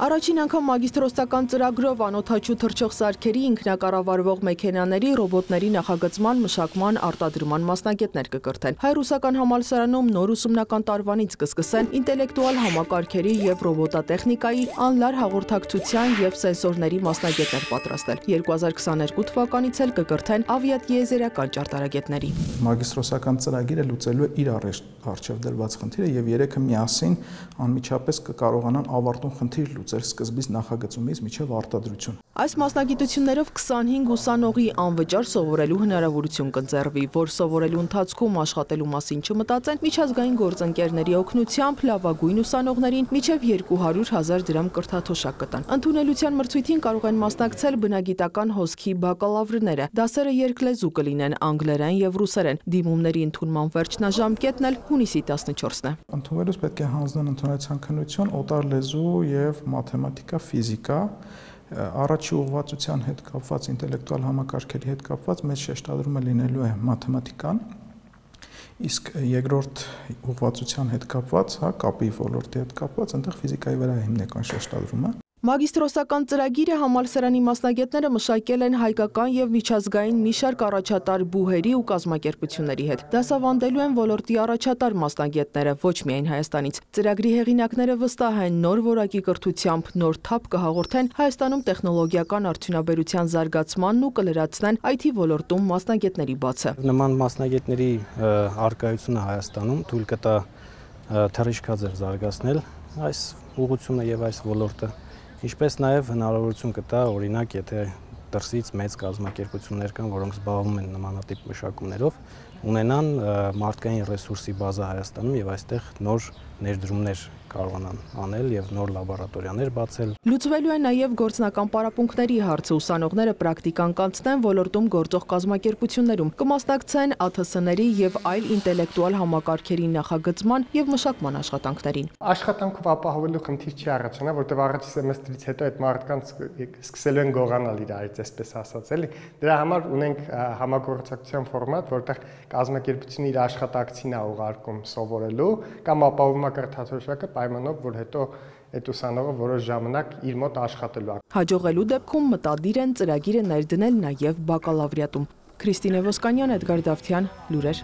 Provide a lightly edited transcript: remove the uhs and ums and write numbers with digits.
Առաջին անգամ մագիստրոսական ծրագրով անօդաչու թռչող սարքերի, ինքնակառավարվող մեքենաների, ռոբոտների նախագծման, մշակման, արտադրման մասնագետներ կկրթեն։ Հայ-ռուսական համալսարանում նոր ուսումնական տարվանից կսկսեն ինտելեկտուալ համակարգերի և ռոբոտատեխնիկայի, անլար հաղորդակցության և սենսորների մասնագետներ պատրաստել։ 2022 թվականից էլ կկրթեն ավիատիեզերական ճարտարագետների։ Մագիստրոսական ծրագիրը լուծելու է իր առջև դրված խնդիրը եւ երեքը միասին անմիջապես կկարողանան ավարտուն խնդիր լուծել սկզբից նախագծումից մինչև արտադրություն։ Այս մասնագիտություններով 25 ուսանողի անվճար սովորելու հնարավորություն կընձեռվի, որ սովորելու ընթացքում աշխատելու մասին չմտածեն, միջազգային գործընկերների օգնությամբ լավագույն ուսանողներին մինչև 200,000 դրամ կրթաթոշակ կտան։ Ընդունելության մրցույթին կարող են մասնակցել բնագիտական հոսքի բակալավրները։ Դասերը երկլեզու կլինեն անգլերեն եւ ռուսերեն։ Դիմումների ընդունման վերջնաժամկետն էլ հունիսի 14-ն է։ Ընդունվելուց պետք է հանձնեն ընդունելության քննություն, օտար լեզու եւ մաթեմատիկա, ֆիզիկա, առաջի ուղղվածության հետ կապված, ինտելեկտուալ համակարգերի հետ կապված մեծ շեշտադրումը լինելու է մաթեմատիկան, իսկ երկրորդ ուղղվածության հետ կապված, կապի ոլորտի հետ կապված, այնտեղ ֆիզիկայի վրա է հիմնական շեշտադրումը։ Մագիստրոսական ծրագիրը համալսարանի մասնագետները մշակել են հայկական եւ միջազգային մի շարք առաջատար բուհերի ու կազմակերպությունների հետ։ Դասավանդելու են ոլորտի առաջատար մասնագետները, ոչ միայն Հայաստանից։ Ծրագրի հեղինակները վստահ են, նոր որակի կրթությամբ նոր թափ կհաղորդեն Հայաստանում տեխնոլոգիական արդյունաբերության զարգացմանն ու կլրացնեն IT ոլորտում մասնագետների բացը։ Նման մասնագետների առկայությունը Հայաստանում թույլ կտա թռիչքաձև զարգացնել այս ուղղությունը եւ այս ոլորտը, ինչպես նաև հնարավորություն կտա, օրինակ, եթե դրսից մեծ կազմակերպություններ կան, որոնք զբաղվում են նմանատիպ մշակումներով, ունենան մարդկային ռեսուրսի բազա Հայաստանում եւ այստեղ նոր ներդրումներ կարողանան անել եւ նոր լաբորատորիաներ բացել։ Լուծվելու է նաեւ գործնական պարապմունքների հարցը, ուսանողները պրակտիկան կանցնեն ոլորտում գործող կազմակերպություններում, կմասնակցեն ԱԹՍ-ների եւ այլ ինտելեկտուալ համակարգերի նախագծման եւ մշակման աշխատանքներին։ Աշխատանքով ապահովելու խնդիր չի առաջանա, որտեղ առաջի սեմեստրից հետո այդ մարդկանց սկսելու են գողանալ իրարից, այսպես ասած, էլի։ Դրա համար ունենք համագործակցության ֆորմատ, որտեղ կազմակերպությունը իր աշխատակցին է ուղարկում սովորելու կամ ապահովում է կրթաթոշակը պայմանով, որ հետո այդ ուսանողը որոշ ժամանակ իր մոտ աշխատելու է։ Հաջողելու դեպքում մտադիր են ծրագիրը ներդնել նաև բակալավրիատում։ Քրիստինե Ոսկանյան, Էդգար Դավթյան, լուրեր։